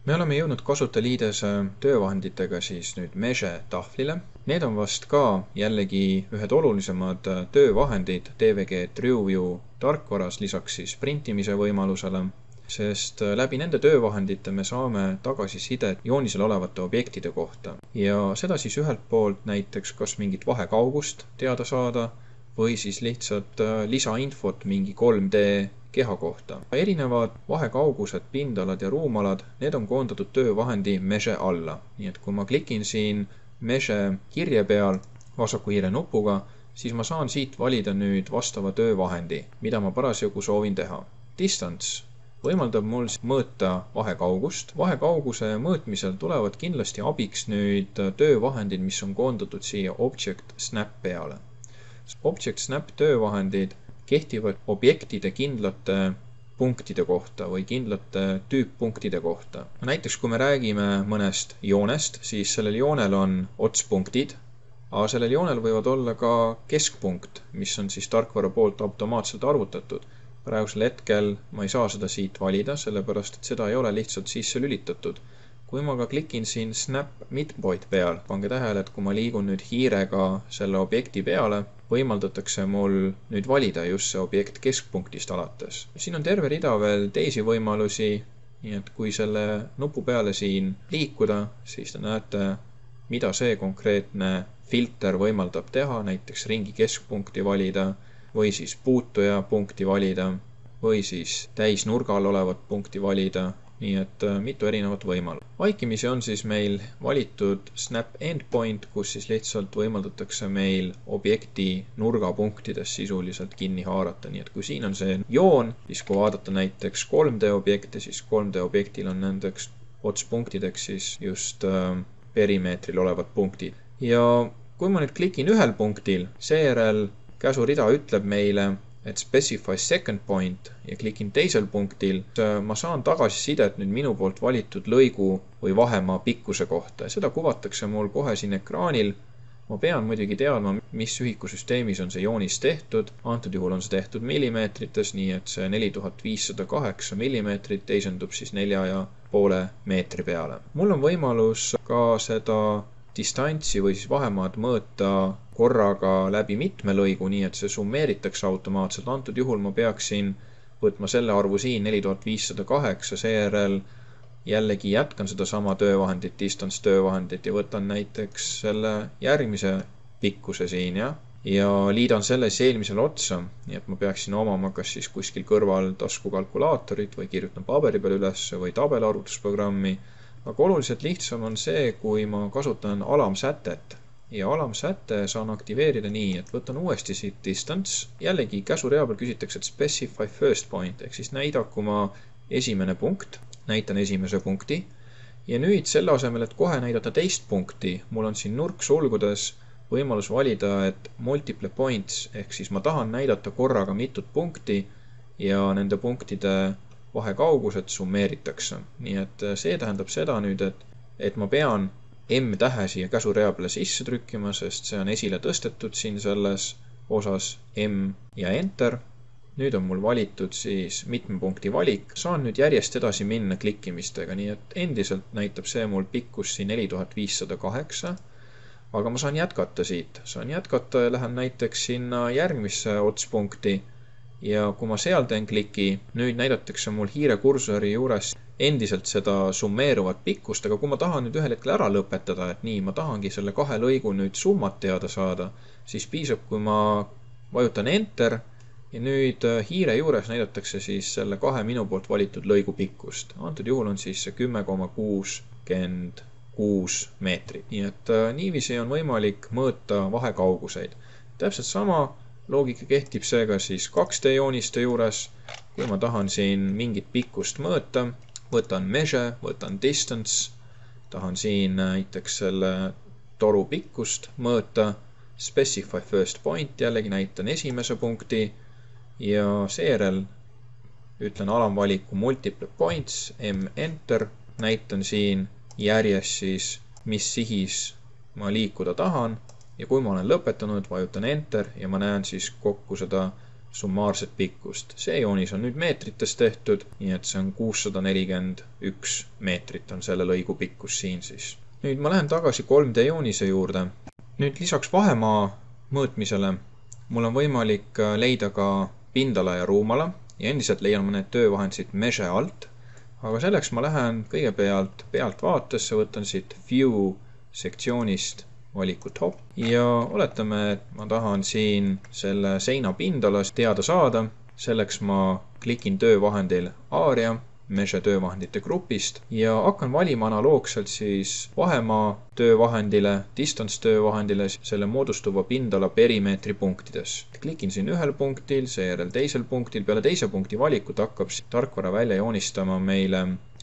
Me oleme jõudnud kasutajaliidese töövahenditega siis nüüd Measure tahvlile. Need on vast ka jällegi ühed olulisemad töövahendid DVG TrueView tarkvaras lisaks siis printimise võimalusele, sest läbi nende töövahendite me saame tagasisidet joonisel olevate objektide kohta. Ja seda siis ühelt poolt näiteks kas mingit vahekaugust teada saada või siis lihtsalt lisainfot mingi 3D keha kohta. Erinevad vahekaugused, pindalad ja ruumalad, need on koondatud töövahendi Measure alla. Nii et kui ma klikin siin Measure kirje peal vasaku hiire nupuga, siis ma saan siit valida nüüd vastava töövahendi, mida ma parasjagu soovin teha. Distance võimaldab mul mõõta vahekaugust. Vahekauguse mõõtmisel tulevad kindlasti abiks nüüd töövahendid, mis on koondatud siia Object Snap peale. Object Snap töövahendid kehtivad objektide kindlate punktide kohta või kindlate tüüppunktide kohta. Näiteks kui me räägime mõnest joonest, siis sellel joonel on otspunktid, aga sellel joonel võivad olla ka keskpunkt, mis on siis tarkvara poolt automaatselt arvutatud. Praegusel hetkel ma ei saa seda siit valida, sellepärast et seda ei ole lihtsalt sisse lülitatud. Kui ma ka klikin siin Snap Midpoint peal, pange tähele, et kui ma liigun nüüd hiirega selle objekti peale, võimaldatakse mul nüüd valida just see objekt keskpunktist alates. Siin on terve rida veel teisi võimalusi, nii et kui selle nupu peale siin liikuda, siis te näete, mida see konkreetne filter võimaldab teha, näiteks ringi keskpunkti valida või siis puutuja punkti valida või siis täisnurgal olevat punkti valida. Nii et mitu erinevat võimalust. Vaikimisi on siis meil valitud Snap Endpoint, kus siis lihtsalt võimaldatakse meil objekti nurgapunktides sisuliselt kinni haarata. Nii et kui siin on see joon, siis kui vaadata näiteks 3D objekte, siis 3D objektil on nendeks otspunktideks siis just perimeetril olevad punktid. Ja kui ma nüüd klikin ühel punktil, seejärel käsurida ütleb meile, et specify second point ja klikin teisel punktil, ma saan tagasisidet nüüd minu poolt valitud lõigu või vahemaa pikkuse kohta. Seda kuvatakse mul kohe siin ekraanil. Ma pean muidugi teadma, mis ühikusüsteemis on see joonis tehtud. Antud juhul on see tehtud millimeetrites, nii et see 4508 millimeetrit teisendub siis 4,5 meetri peale. Mul on võimalus ka seda distantsi või siis vahemaad mõõta korraga läbi mitme lõigu, nii et see summeeritakse automaatselt. Antud juhul ma peaksin võtma selle arvu siin 4508, seejärel jällegi jätkan seda sama töövahendit, distance töövahendit ja võtan näiteks selle järgmise pikkuse siin ja liidan selle siis eelmisele otsa, nii et ma peaksin omama kas siis kuskil kõrval taskukalkulaatorit või kirjutan paberi peal üles või tabelarvutusprogrammi. Aga oluliselt lihtsam on see, kui ma kasutan alamsätet ja alamsäte saan aktiveerida nii, et võtan uuesti siit distance. Jällegi käsurea peal küsitakse, et specify first point, ehk siis näidaku ma esimene punkt, näitan esimese punkti ja nüüd selle asemel, et kohe näidata teist punkti, mul on siin nurksulgudes võimalus valida, et multiple points, ehk siis ma tahan näidata korraga mitut punkti ja nende punktide vahekaugused summeeritakse. Nii et see tähendab seda nüüd, et ma pean M-tähe siia käsurea peale sisse trükkima, sest see on esile tõstetud siin selles osas M ja Enter. Nüüd on mul valitud siis mitme punkti valik. Saan nüüd järjest edasi minna klikkimistega, nii et endiselt näitab see mul pikkus siin 4508, aga ma saan jätkata siit. Saan jätkata ja lähen näiteks sinna järgmisse otspunkti ja kui ma seal teen kliki, nüüd näidatakse mul hiire kursori juures endiselt seda summeeruvat pikkust, aga kui ma tahan nüüd ühel hetkel ära lõpetada, et nii, ma tahangi selle kahe lõigu nüüd summat teada saada, siis piisab, kui ma vajutan Enter ja nüüd hiire juures näidatakse siis selle kahe minu poolt valitud lõigu pikkust. Antud juhul on siis see 10,66 meetrit. Nii et niiviisi on võimalik mõõta vahekauguseid. Täpselt sama loogika kehtib seega siis 2D jooniste juures. Kui ma tahan siin mingit pikkust mõõta, võtan Measure, võtan Distance, tahan siin näiteks selle toru pikkust mõõta, Specify First Point, jällegi näitan esimese punkti ja seejärel ütlen alamvaliku Multiple Points, M-Enter, näitan siin järjest siis, mis sihis ma liikuda tahan ja kui ma olen lõpetanud, vajutan Enter ja ma näen siis kokku seda summaarset pikkust. See joonis on nüüd meetrites tehtud, nii et see on 641 meetrit on selle lõigu pikkus siin siis. Nüüd ma lähen tagasi 3D joonise juurde. Nüüd lisaks vahemaa mõõtmisele mul on võimalik leida ka pindala ja ruumala ja endiselt leian ma need töövahendid siit Measure alt, aga selleks ma lähen kõigepealt pealtvaatesse, võtan siit View sektsioonist valiku Top ja oletame, et ma tahan siin selle seina pindalast teada saada. Selleks ma klikin töövahendil Area Measure töövahendite grupist ja hakkan valima analoogselt siis vahemaa töövahendile, distance töövahendile selle moodustuva pindala perimeetri punktides. Klikin siin ühel punktil, seejärel teisel punktil. Peale teise punkti valikut hakkab tarkvara välja joonistama meile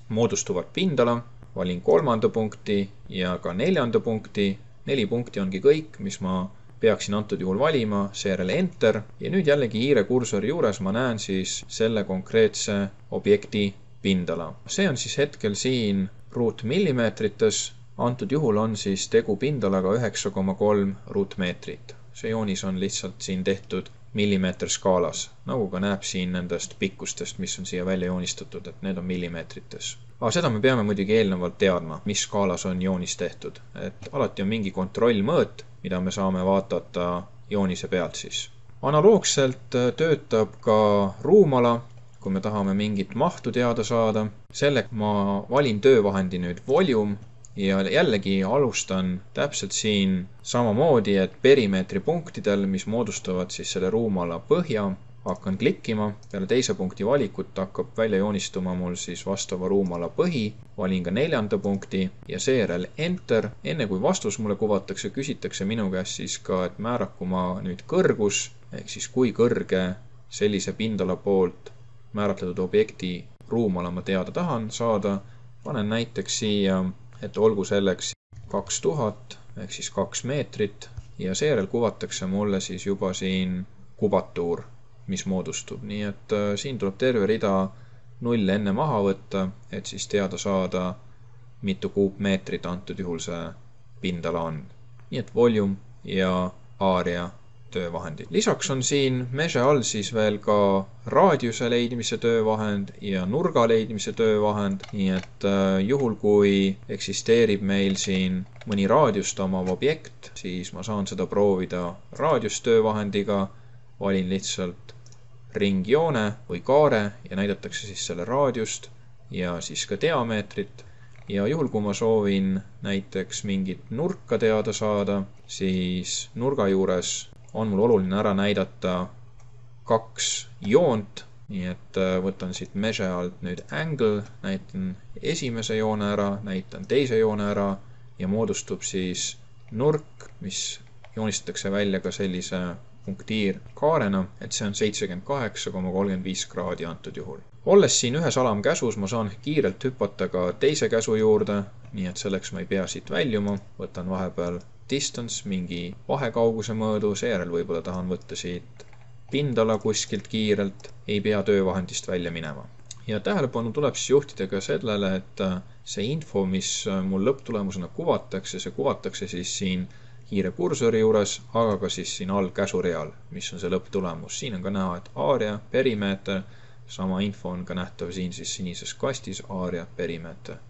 moodustuvat pindala. Valin 3. punkti ja ka 4. punkti. 4 punkti ongi kõik, mis ma peaksin antud juhul valima, seejärel Enter ja nüüd jällegi hiire kursori juures ma näen siis selle konkreetse objekti pindala. See on siis hetkel siin ruutmillimeetrites, antud juhul on siis tegu pindalaga 9,3 ruutmeetrit. See joonis on lihtsalt siin tehtud millimeeter skaalas, nagu ka näeb siin nendest pikkustest, mis on siia välja joonistatud, et need on millimeetrites. Aga seda me peame muidugi eelnevalt teadma, mis skaalas on joonis tehtud, et alati on mingi kontrollmõõt, mida me saame vaadata joonise pealt siis. Analoogselt töötab ka ruumala, kui me tahame mingit mahtu teada saada. Selleks ma valin töövahendi nüüd Volume ja jällegi alustan täpselt siin samamoodi, et perimeetri punktidel, mis moodustavad siis selle ruumala põhja, hakkan klikkima. Peale teise punkti valikut hakkab välja joonistuma mul siis vastava ruumala põhi. Valin ka 4. punkti ja seejärel Enter. Enne kui vastus mulle kuvatakse, küsitakse minu käest siis ka, et määraku ma nüüd kõrgus, ehk siis kui kõrge sellise pindala poolt määratletud objekti ruumala ma teada tahan saada. Panen näiteks siia, et olgu selleks 2000 ehk siis 2 meetrit ja seejärel kuvatakse mulle siis juba siin kubatuur, mis moodustub. Nii et siin tuleb terve rida nulle enne maha võtta, et siis teada saada, mitu kuupmeetrit antud juhul see pindala on. Nii et Volume ja Area töövahendid. Lisaks on siin Measure all siis veel ka raadiuse leidmise töövahend ja nurga leidmise töövahend, nii et juhul kui eksisteerib meil siin mõni raadiust omav objekt, siis ma saan seda proovida raadiustöövahendiga. Valin lihtsalt ringjoone või kaare ja näidatakse siis selle raadiust ja siis ka diameetrit. Ja juhul kui ma soovin näiteks mingit nurka teada saada, siis nurga juures on mul oluline ära näidata 2 joont, nii et võtan siit Measure alt nüüd Angle, näitan esimese joone ära, näitan teise joone ära ja moodustub siis nurk, mis joonistatakse välja ka sellise punktiirkaarena, et see on 78,35 kraadi antud juhul. Olles siin ühes alamkäsus, ma saan kiirelt hüpata ka teise käsu juurde, nii et selleks ma ei pea siit väljuma. Võtan vahepeal distance, mingi vahekauguse mõõdu, seejärel võib-olla tahan võtta siit pindala kuskilt kiirelt, ei pea töövahendist välja minema. Ja tähelepanu tuleb siis juhtida ka sellele, et see info, mis mul lõpptulemusena kuvatakse, see kuvatakse siis siin hiire kursori juures, aga ka siis siin all käsureal, mis on see lõpptulemus. Siin on ka näha, et area, perimeeter, sama info on ka nähtav siin siis sinises kastis, area, perimeeter.